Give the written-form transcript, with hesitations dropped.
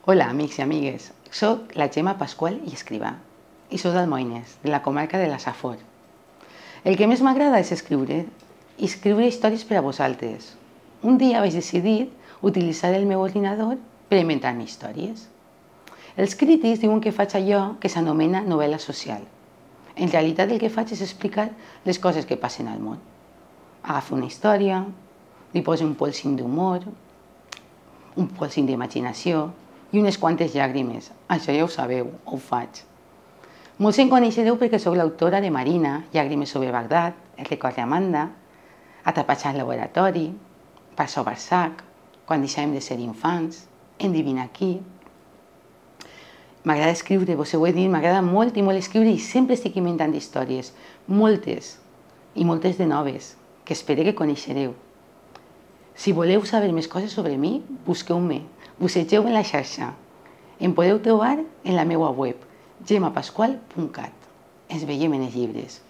Hola, amics i amigues. Soc la Gemma Pasqual i Escrivà i soc d'Almoines, de la comarca de la Safor. El que més m'agrada és escriure històries per a vosaltres. Un dia vaig decidir utilitzar el meu ordinador per inventar-me històries. Els crítics diuen que faig allò que s'anomena novel·la social. En realitat el que faig és explicar les coses que passen al món. Agafo una història, li poso un polsim d'humor, un polsim d'imaginació i unes quantes llàgrimes. Això ja ho sabeu, ho faig. Molts em coneixereu perquè sóc l'autora de Marina, Llàgrimes sobre Bagdad, El record d'Amanda, Atrapats al laboratori, Barça o Barsac, Quan deixàvem de ser infants, Endevina qui. M'agrada escriure, vos ho he dit, m'agrada molt i molt escriure i sempre estic inventant històries, moltes i moltes de noves, que espero que coneixereu. Si voleu saber més coses sobre mi, busqueu-me, bussegeu en la xarxa. Em podeu trobar en la meva web, gemmapasqual.cat. Ens veiem en els llibres.